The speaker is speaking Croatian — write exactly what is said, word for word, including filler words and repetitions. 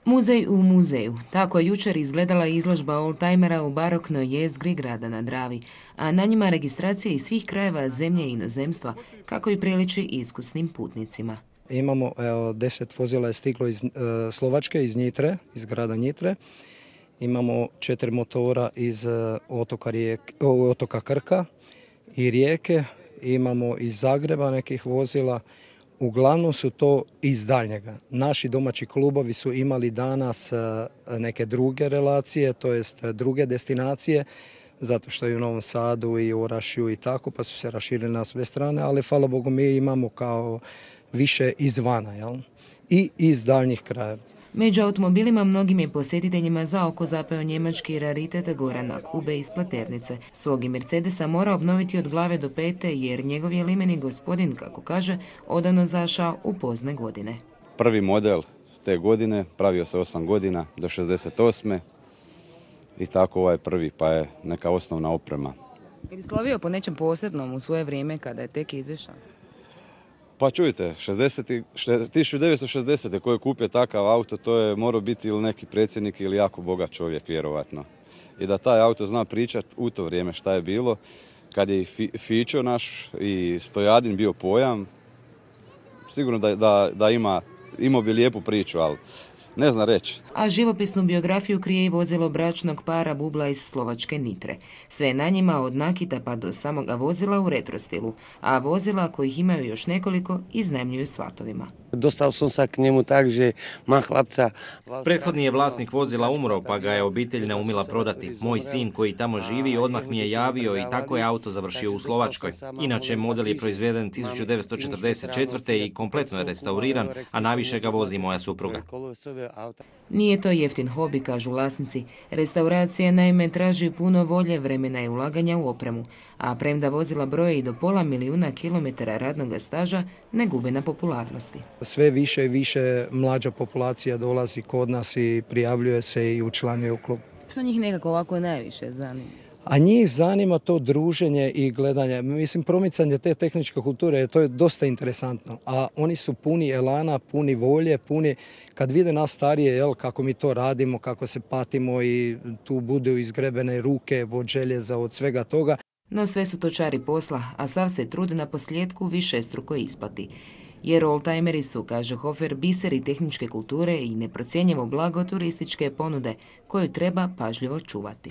Muzej u muzeju. Tako je jučer izgledala izložba oldtimera u baroknoj jezgri grada na Dravi, a na njima registracije iz svih krajeva zemlje i inozemstva, kako i priliči iskusnim putnicima. Imamo, evo, deset vozila je stiglo iz e, Slovačke, iz Njitre, iz grada Njitre. Imamo četiri motora iz e, otoka, Rijeke, otoka Krka i Rijeke. Imamo iz Zagreba nekih vozila. Uglavnom su to iz daljnjega. Naši domaći klubovi su imali danas neke druge relacije, to jest druge destinacije, zato što je u Novom Sadu i Orašju i tako, pa su se raširili na sve strane, ali hvala Bogu mi imamo kao više izvana, jel? I iz daljnjih krajeva. Među automobilima mnogim je posjetiteljima za oko zapeo njemački raritet Gorana Kube iz Pleternice. Svog je Mercedesa mora obnoviti od glave do pete jer njegov je limeni gospodin, kako kaže, odano zašao u pozne godine. Prvi model te godine pravio se osam godina do šezdeset osme i tako ovaj prvi, pa je neka osnovna oprema. Je li slovio po nečem posebnom u svoje vrijeme kada je tek izašao? Pa čujte, tisuću devetsto šezdesete koji je kupio takav auto, to je morao biti ili neki predsjednik ili jako bogat čovjek, vjerovatno. I da taj auto zna pričati u to vrijeme šta je bilo, kad je i Fićo naš i Stojadin bio pojam, sigurno da, da, da ima, imao bi lijepu priču, ali ne zna reći. A živopisnu biografiju krije i vozilo bračnog para Bubla iz Slovačke Nitre. Sve na njima od nakita pa do samoga vozila u retro stilu, a vozila kojih imaju još nekoliko iznajmljuju svatovima. Dostao sam se k njemu tak, že ma hlapca. Prethodni je vlasnik vozila umro, pa ga je obitelj neumila prodati. Moj sin koji tamo živi odmah mi je javio i tako je auto završio u Slovačkoj. Inače, model je proizveden tisuću devetsto četrdeset četvrte i kompletno je restauriran, a najviše ga vozi moja supruga. Nije to jeftin hobi, kažu vlasnici. Restauracija naime traži puno volje, vremena i ulaganja u opremu, a premda vozila broje i do pola milijuna kilometara radnog staža, ne gube na popularnosti. Sve više i više mlađa populacija dolazi kod nas i prijavljuje se i učlanjuje u klub. Što njih nekako ovako najviše zanima? A njih zanima to druženje i gledanje. Mislim, promicanje te tehničke kulture, to je dosta interesantno. A oni su puni elana, puni volje, puni, kad vide nas starije, jel, kako mi to radimo, kako se patimo i tu budu izgrebene ruke od željeza, od svega toga. No sve su to čari posla, a sav se trud na posljedku višestruko isplati. Jer oldtimeri su, kaže Hofer, biseri tehničke kulture i neprocjenjivo blago turističke ponude koju treba pažljivo čuvati.